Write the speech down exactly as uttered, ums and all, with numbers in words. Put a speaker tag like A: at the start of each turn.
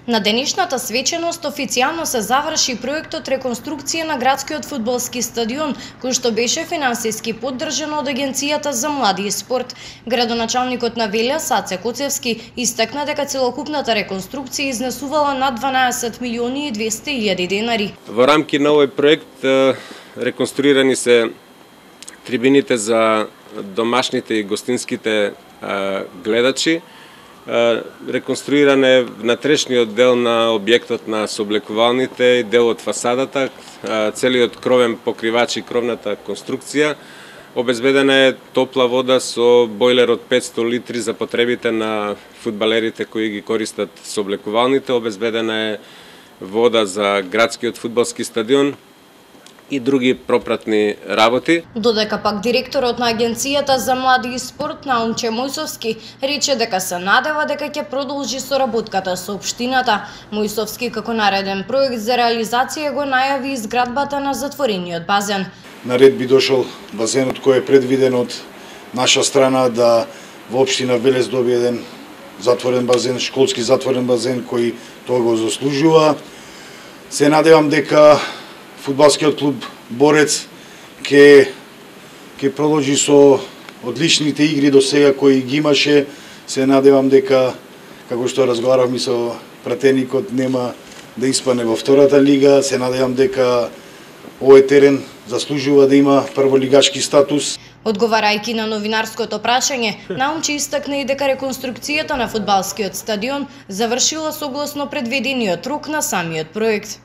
A: На денешната свеченост официјално се заврши проектот реконструкција на градскиот фудбалски стадион, кој што беше финансиски поддржан од Агенцијата за млади и спорт. Градоначалникот на Велја, Саце Коцевски, истакна дека целокупната реконструкција изнесувала над дванаесет милиони и двесте илјади денари.
B: Во рамки на овој проект реконструирани се трибините за домашните и гостинските гледачи. Реконструиран е внатрешниот дел на објектот на сооблекувалните и дел од фасадата, целиот кровен покривач и кровната конструкција. Обезбедена е топла вода со бойлер од петсто литри за потребите на фудбалерите кои ги користат сооблекувалните. Обезбедена е вода за градскиот фудбалски стадион и други пропратни работи.
A: Додека пак директорот на Агенцијата за млади и спорт Наумче Мојсовски рече дека се надева дека ќе продолжи соработката со општината. Мојсовски како нареден проект за реализација го најави изградбата на затворениот базен.
C: Наред би дошол базенот кој е предвиден од наша страна да во општина Велес добие еден затворен базен, школски затворен базен кој тоа го заслужува. Се надевам дека фудбалскиот клуб Борец ќе ќе продолжи со одличните игри до сега кои ги имаше. Се надевам дека, како што разговаравме со пратеникот, нема да испане во втората лига. Се надевам дека овој терен заслужува да има прволигачки статус.
A: Одговарајќи на новинарското прашање, Наумче истакна и дека реконструкцијата на фудбалскиот стадион завршила согласно предвидениот рок на самиот проект.